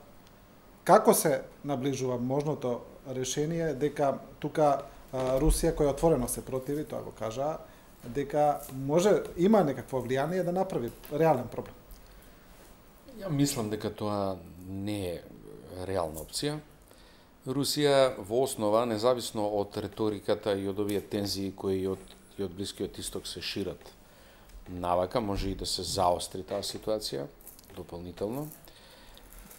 како се наближува можното решение, дека тука Русија, која отворено се противи, тоа го кажа, дека има некакво влијание да направи реален проблем? Ја мислам дека тоа не е реална опција. Русија во основа, независно од реториката и од овие тензии кои од Блискиот Исток се шират навака, може и да се заостри таа ситуација дополнително.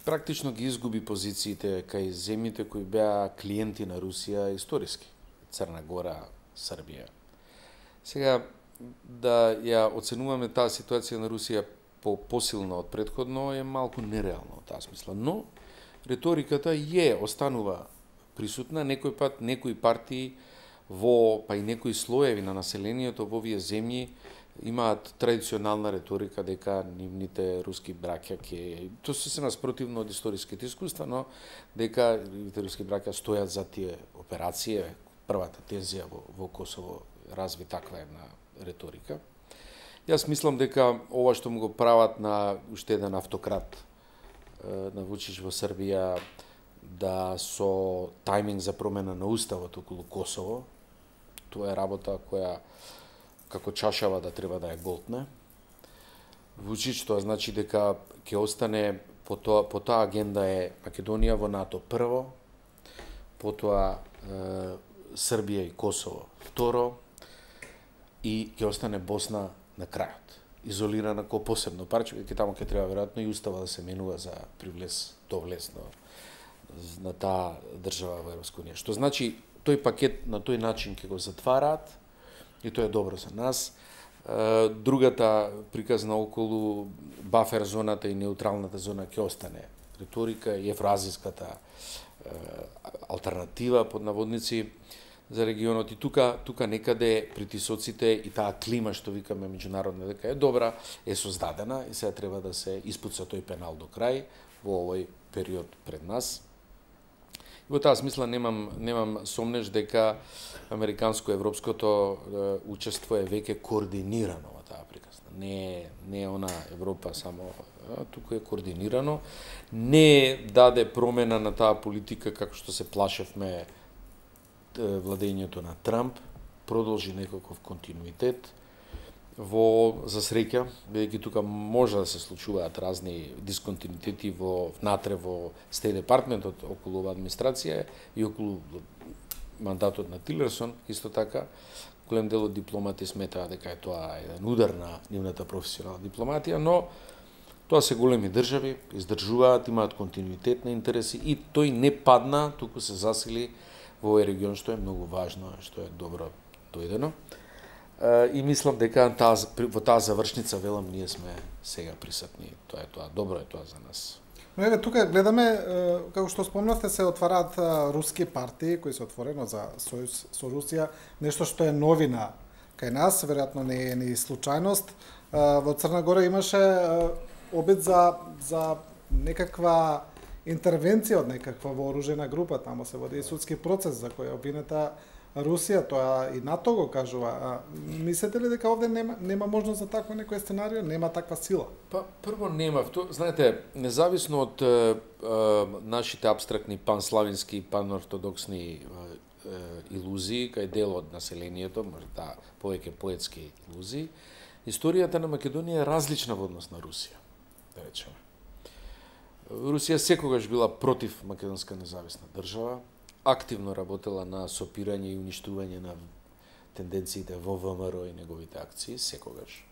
Практично ги изгуби позициите кај земјите кои беа клиенти на Русија историски. Црна Гора, Србија. Сега, да ја оценуваме таа ситуација на Русија посилно од предходно е малку нереално од таа смисла, но реториката останува присутна, некој пат некои партии па и некои слоеви на населението во овие земји имаат традиционална реторика дека нивните руски браќа тоа се наспротивно од историските искуства, но дека нивните руски браќа стојат за тие операции. Првата тензија во Косово разви таква една реторика. Јас мислам дека ова што му го прават на уште еден автократ на Вучич во Србија, да со тајминг за промена на уставот околу Косово, тоа е работа која како чашава да треба да ја голтне. Вучич, тоа значи дека ќе остане по таа агенда е Македонија во НАТО прво, потоа Србија и Косово второ, и ќе остане Босна на крајот, изолирана ко посебно парче, ќе таму ќе треба веројатно и устава да се менува за довлез на таа држава во Европска унија. Што значи тој пакет на тој начин ќе го затвараат и тоа е добро за нас. Другата приказна околу бафер зоната и неутралната зона ќе остане реторика и евроазиската алтернатива под наводници. за регионот и тука некаде притисоците и таа клима што викаме меѓународна дека е добра, е создадена и сега треба да се испуца тој пенал до крај во овој период пред нас. И во таа смисла немам сомнеш дека американско-европското учество е веќе координирано во таа приказна. Не е она Европа само, туку е координирано. Не даде промена на таа политика како што се плашевме владењето на Трамп, продолжи некаков континуитет за среќа, бидејќи тука може да се случуваат разни дисконтинуитети внатре во Стејт департментот околу оваа администрација и околу мандатот на Тилерсон, исто така. Голем дел од дипломати сметаа дека е тоа еден удар на нивната професионална дипломатија, но тоа се големи држави, издржуваат, имаат континуитет на интереси и тој не падна, туку се засили во овој регион, што е многу важно, што е добро дојдено. И мислам дека во таа завршница, велам, ние сме сега присутни. Тоа е тоа, добро е тоа за нас. Но еве тука гледаме, како што спомнавте, се отвараат руски партии кои се отворено за сојуз со Русија, нешто што е новина кај нас, веројатно не е ни случајност. Во Црна Гора имаше обид за некаква интервенција од некаква вооружена група, тамо се води и судски процес за кој е обвинета Русија, тоа и НАТО го кажува. Мислите ли дека овде нема можност за такво некој сценарио, нема таква сила? Па прво нема, знаете, независно од нашите абстрактни панславински, панортодоксни илузии кај дел од населението, може повеќе поетски илузии, историјата на Македонија е различна во однос на Русија, да речеме. Русија секогаш била против македонска независна држава, активно работела на сопирање и уништување на тенденциите во ВМРО и неговите акции, секогаш.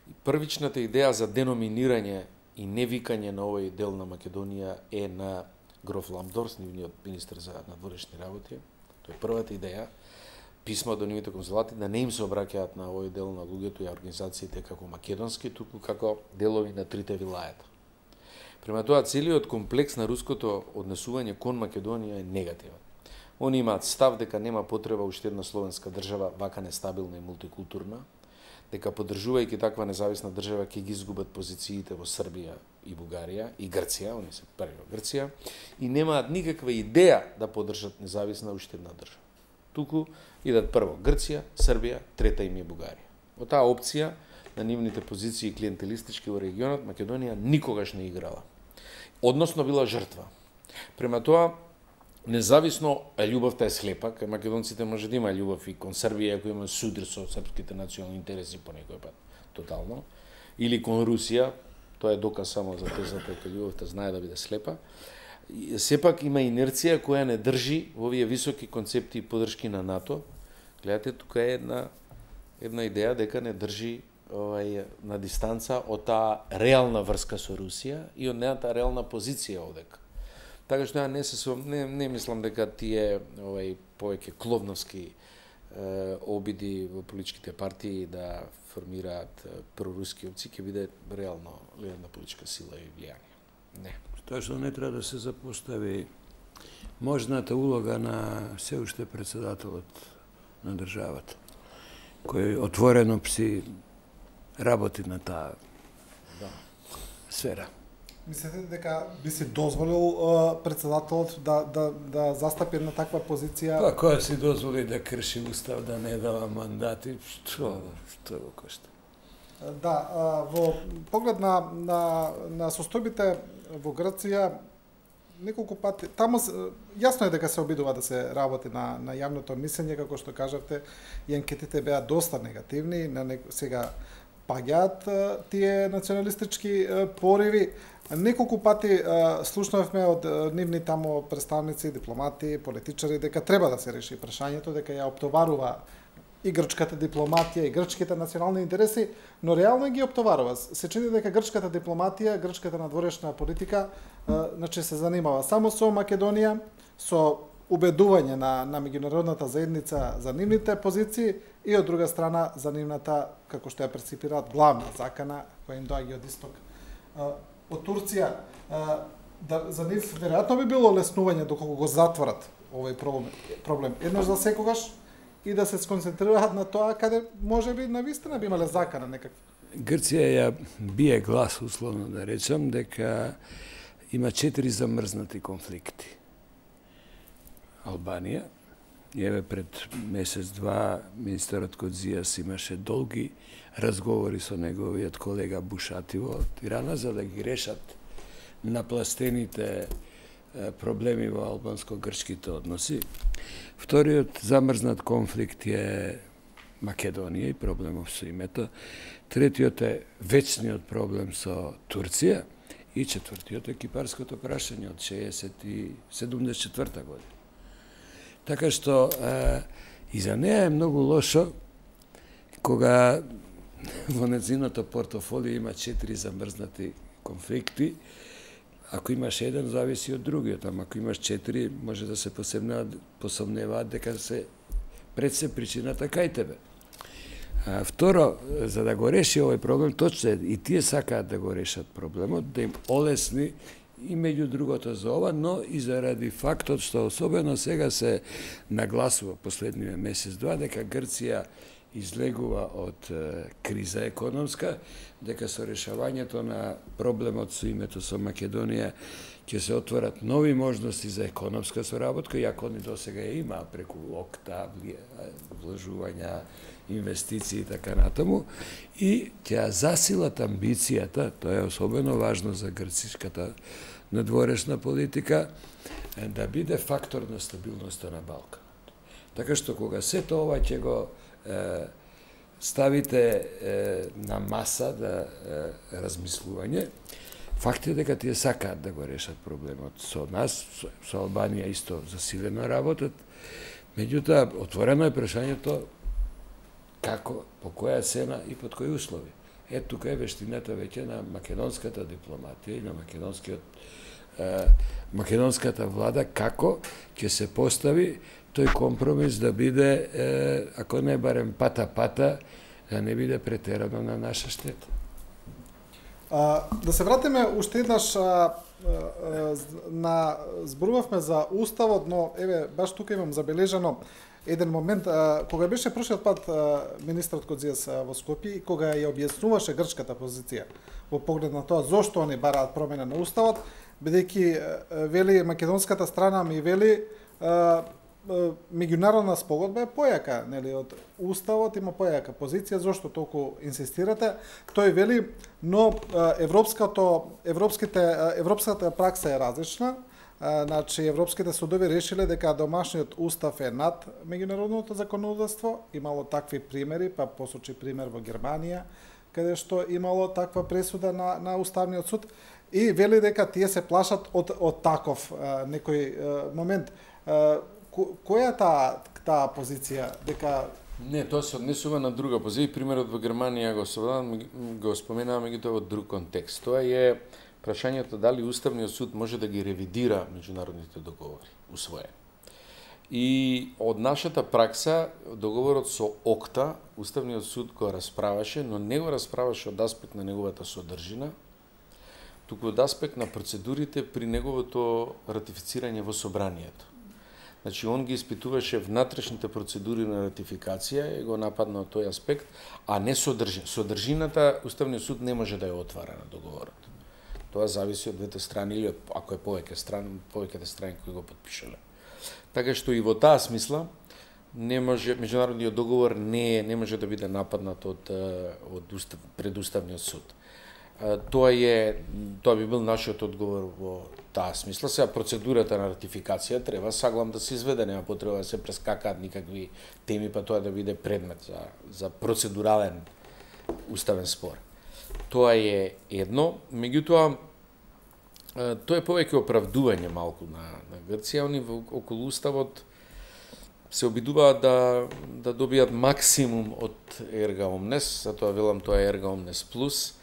И првичната идеја за деноминирање и невикање на овој дел на Македонија е на гроф Ламдорс, нивниот министер за надворешни работи. Тоа е првата идеја. Писма до нивните конзулати да не им се обраќаат на овој дел на луѓето и организациите како македонски, туку како делови на трите вилајата. Према тоа, целиот комплекс на руското однесување кон Македонија е негативен. Они имаат став дека нема потреба уште една словенска држава, вака нестабилна и мултикултурна, дека поддржувајќи таква независна држава ќе ги изгубат позициите во Србија и Бугарија и Грција, они се први во Грција, и немаат никаква идеја да поддржат независна уште една држава. Туку идат прво Грција, Србија, трета им е Бугарија. Во таа опција на нивните позиции клиентелистички во регионот, Македонија никогаш не играла. Односно била жртва. Према тоа, независно, љубовта е слепа, кај македонците може да има љубов и кон Србија, ако има судир со српските национални интереси по некој пат, тотално, или кон Русија, тоа е доказ само за тезата дека љубовта знае да биде слепа. Сепак има инерција која не држи во овие високи концепти и подршки на НАТО. Гледате, тука е една идеја дека не држи на дистанца од таа реална врска со Русија и од нејата реална позиција одека. Така што не мислам дека тие повеќе кловновски обиди во политичките партии да формираат проруски опции ќе биде реално една политичка сила и влијание. Не. Тоа што не треба да се запостави можната улога на се уште председателот на државата, кој отворено си работи на таа сфера. Мислите дека би си дозволил председателот да застапи на таква позиција? Па која си дозволи да крши устав, да не дава мандати, што го кошта? Да, во поглед на состојбите во Грција, неколку пати, таму јасно е дека се обидува да се работи на јавното мислење, како што кажавте, и анкетите беа доста негативни, сега паѓаат тие националистички пориви. Неколку пати слушнавме од нивни тамо представници, дипломати, политичари, дека треба да се реши прашањето, дека ја оптоварува и грчката дипломатија, и грчките национални интереси, но реално ги оптоварува. Се чини дека грчката дипломатија, грчката надворешна политика, значи се занимава само со Македонија, со убедување на меѓународната заедница за нивните позиции и од друга страна за нивната, како што ја перципираат, главна закана која им доаѓа од исток. Од Турција, за нив веројатно би било леснување доколку го затворат овој проблем еднаш за секогаш и да се сконцентрираат на тоа каде можеби навистина би имале закана некаква. Грција ја бие глас, условно да речам, дека има 4 замрзнати конфликти. Албанија, и еве пред месец-два министерот Кодзијас имаше долги разговори со неговиот колега Бушати во Тирана за да ги решат напластените проблеми во албанско-грчките односи. Вториот замрзнат конфликт е Македонија и проблемов со името. Третиот е вечниот проблем со Турција и четвртиот е кипарското прашање од 74 година. Така што и за неа е многу лошо кога во нејзиното портофолио има 4 замрзнати конфликти. Ако имаш еден, зависи од другиот, ама ако имаш 4, може да се посомневаат дека пред се причината кај тебе. Второ, за да го реши овој проблем, точно и тие сакаат да го решат проблемот, да им олесни и меѓу другото за ова, но и заради фактот што особено сега се нагласува последниот месец-два дека Грција излегува од криза економска, дека со решавањето на проблемот со името со Македонија ќе се отворат нови можности за економска соработка, иако они досега ја има преку ОКТА, вложувања, инвестиции и така натаму, и ќе засилат амбицијата, тоа е особено важно за грцишката надворешна политика, да биде фактор на стабилноста на Балканот. Така што кога сето ова ќе го ставите на маса да размислување, факт е дека тие сакаат да го решат проблемот со нас, со Албанија исто засилено работат, меѓутоа отворено е прашањето како, по која цена и под кои услови. Тука е вештината веќе на македонската дипломатија и на македонската влада како ќе се постави тој компромис да биде, ако не барем пата-пата, да не биде претерано на наша штета. Да се вратиме уште еднаш зборувавме за уставот, но еве баш тука имам забележано еден момент кога беше прошлиот пат министерот Кодзијас во Скопје и кога ја објаснуваше грчката позиција во поглед на тоа зошто они бараат промена на уставот, бидејќи вели македонската страна ми вели меѓународна спогодба е појака, нели, од уставот има појака позиција, зошто толку инсистирате? Тој вели, но европската пракса е различна. Значи, европските судови решиле дека домашниот устав е над меѓународното законодавство, имало такви примери, па посочи пример во Германија, каде што имало таква пресуда на уставниот суд, и вели дека тие се плашат од таков некој момент. Која е таа позиција? Дека Не, тоа се однесува на друга позиција. Примерот во Германија го споменаваме меѓутоа во друг контекст. Тоа е прашањето дали Уставниот суд може да ги ревидира меѓународните договори усвоени. И од нашата пракса, договорот со ОКТА, Уставниот суд го расправаше, но не го расправаше од аспект на неговата содржина, туку од аспект на процедурите при неговото ратифицирање во собранието. Значи, он ги испитуваше внатрешните процедури на ратификација и го нападна од тој аспект, а не содржина. Содржината Уставниот суд не може да ја отвара на договорот. Тоа зависи од двете страни или ако е повеќето страни кои го потпишале. Така што и во таа смисла меѓународниот договор не може да биде нападнат од предуставниот суд. Тоа би бил нашиот одговор во таа смисла. Сега процедурата на ратификација треба саглам да се изведе, нема потреба да се прескакаат никакви теми, па тоа да биде предмет за процедурален уставен спор. Тоа е едно, меѓутоа тоа е повеќе оправдување малку на Грција. Они околу уставот се обидуваат да добијат максимум од ерга омнес, затоа велам тоа е ерга омнес плюс,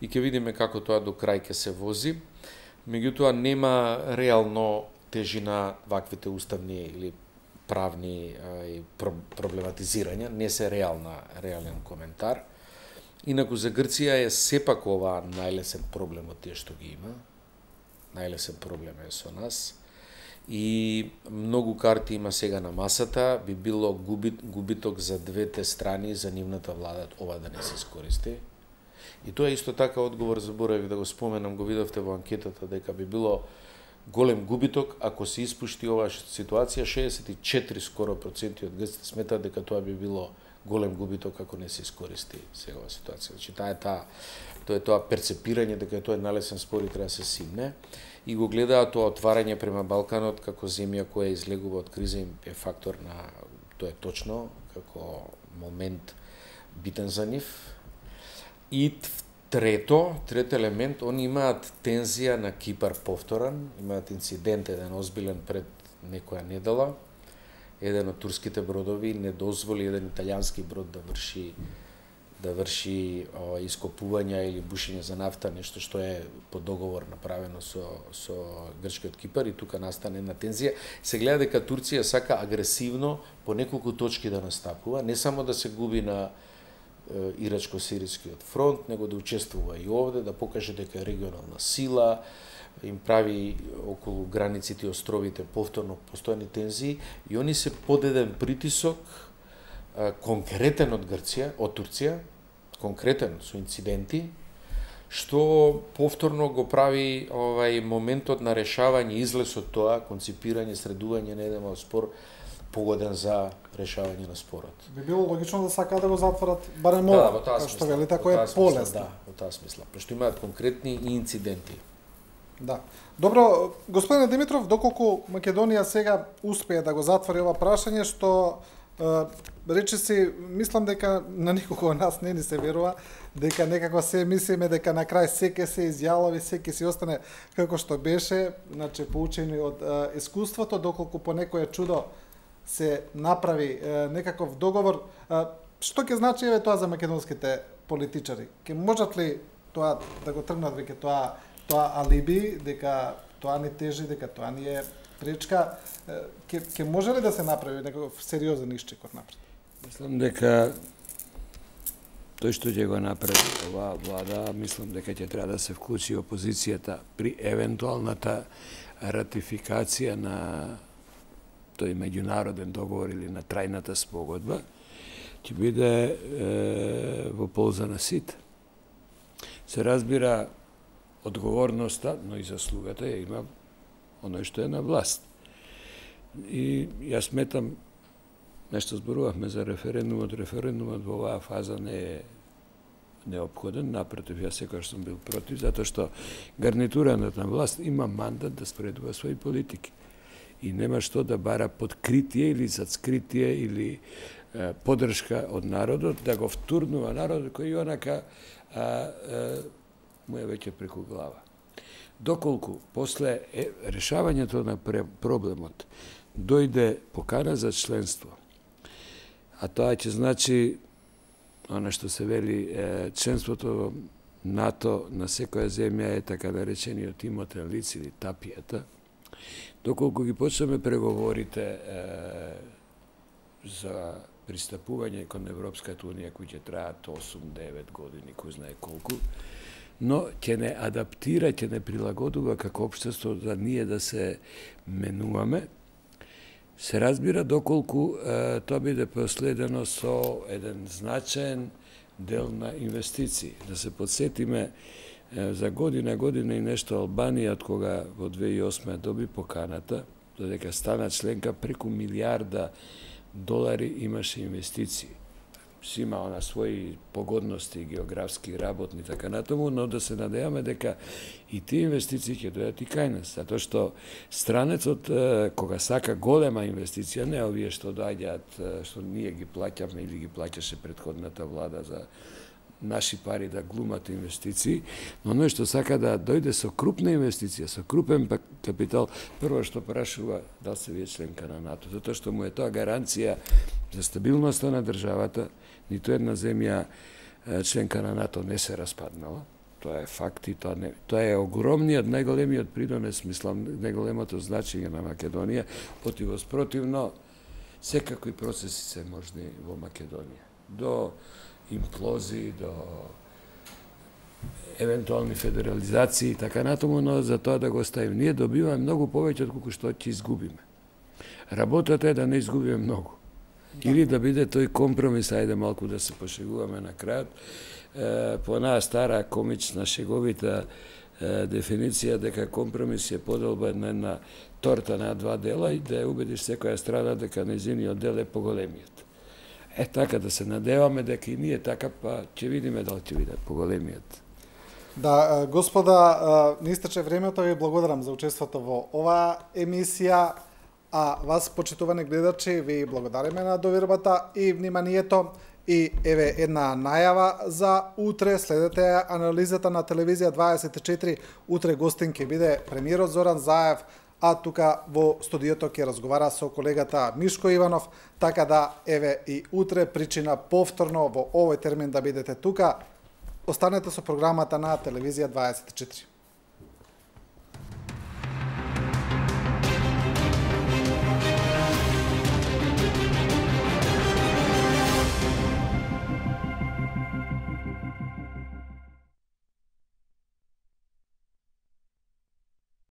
и ќе видиме како тоа до крај ќе се вози. Меѓутоа нема реално тежина ваквите уставни или правни проблематизирања, не се реален коментар. Инаку за Грција е сепак ова најлесен проблем од тие што ги има. Најлесен проблем е со нас. и многу карти има сега на масата, би било губиток за двете страни, за нивната влада ова да не се искористи. И тоа е исто така одговор, заборавив да го споменам, го видовте во анкетата, дека би било голем губиток ако се испушти оваа ситуација. 64 скоро проценти од грците сметаат дека тоа би било голем губиток ако не се искористи сега оваа ситуација. Значи тоа е тоа перцепирање дека тоа е налесен спор и треба да се симне. И го гледаат тоа отварање према Балканот како земја која излегува од криза им е фактор на тоа е точно како момент битен за нив. И трет елемент, они имаат тензија на Кипар повторан, имаат инцидент еден озбилен пред некоја недела. Еден од турските бродови не дозволи еден италијански брод да врши ископувања или бушење за нафта, нешто што е по договор направено со грчкиот Кипар, и тука настане една тензија. Се гледа дека Турција сака агресивно по неколку точки да настапува, не само да се губи на ирачко-сирискиот фронт, него да учествува и овде, да покаже дека е регионална сила, им прави околу границите и островите повторно постојани тензии, и они се под еден притисок конкретен од Турција, конкретен со инциденти, што повторно го прави моментот на решавање, излез од тоа, конципирање, средување на еден спор погоден за решавање на спорот. Би било логично да сакаат да го затворат барем ова, што велите, ако е полесно. Да, во таа смисла, пошто имаат конкретни инциденти. Да. Добро, господине Димитров, доколку Македонија сега успее да го затвори ова прашање, што речиси, мислам дека на никого од нас не ни се верува, дека некако се мислиме дека на крај се ќе се изјави, се ќе си остане како што беше, значи поучени од искуството, доколку по некое чудо се направи некаков договор. Што ќе значи тоа за македонските политичари? Ќе можат ли тоа да го тргнат веќе тоа алиби, дека тоа не тежи, дека тоа не е пречка? Ќе може ли да се направи некаков сериозен исчекор напред? Мислам дека тој што ќе го направи оваа влада, мислам дека ќе треба да се вклучи опозицијата при евентуалната ратификација на тој меѓународен договор или на трајната спогодба, ќе биде во полза на сите. Се разбира, одговорноста, но и заслугата ја има оној што е на власт. И јас сметам, нешто зборувавме за референдумот во оваа фаза не е неопходен, напротив, јас секогаш сум бил против, затоа што гарнитурата на власт има мандат да спредува своји политики. И нема што да бара подкритие или зацкритие или поддршка од народот, да го втурнува народот кој онака му е веќе преку глава. Доколку после решавањето на проблемот дојде покана за членство, а тоа ќе значи она што се вели членството во НАТО на секоја земја е така наречениот имотен лиц или тапијата, доколку ги почнеме преговорите за пристапување кон Европската унија, кои ќе траат 8-9 години, кој знае колку, но ќе не адаптира, ќе не прилагодува како општество да ние да се менуваме, се разбира доколку тоа биде последено со еден значаен дел на инвестиции. Да се подсетиме за година и нешто Албанија, од кога во 2008 доби поканата, додека стана членка, преку $1 милиарди имаше инвестиции. Си има на своји погодности, географски, работни, така натаму, но да се надеваме дека и тие инвестиции ќе дојдат и кај нас, затоа што странецот, кога сака голема инвестиција, не овие што доаѓаат, што ние ги плаќаме или ги плаќаше претходната влада за наши пари да глумат инвестиции, но оној што сака да дојде со крупна инвестиција, со крупен капитал, прво што прашува дали се вие членка на НАТО, затоа што му е тоа гаранција за стабилноста на државата. Ниту една земја членка на НАТО не се распаднала. Тоа е факт и тоа е огромниот, најголемиот придонес, мислам, најголемото значење на Македонија, противно секакви процеси се можни во Македонија. До имплозии, до евентуални федерализации и така натаму, но за тоа да го оставим. Ние добиваме многу повеќе од колку што ќе изгубиме. Работата е да не изгубиме многу. Или да биде тој компромис, ајде малку да се пошегуваме на крајот, по онаа стара комична шеговита дефиниција дека компромис е поделба на една торта на два дела и да ја убедиш секоја страна дека нејзиниот дел е поголемиот. Така да се надеваме дека и ние така, па ќе видиме дали ќе биде поголемиот. Да, господа, не истече времето, ви благодарам за учеството во оваа емисија, а вас, почитувани гледачи, ви благодариме на довербата и вниманието. И еве една најава за утре, следете анализата на телевизија 24, утре гостин ќе биде премиерот Зоран Заев, а тука во студиото ќе разговара со колегата Мишко Иванов, така да еве и утре причина повторно во овој термин да бидете тука. Останете со програмата на телевизија 24.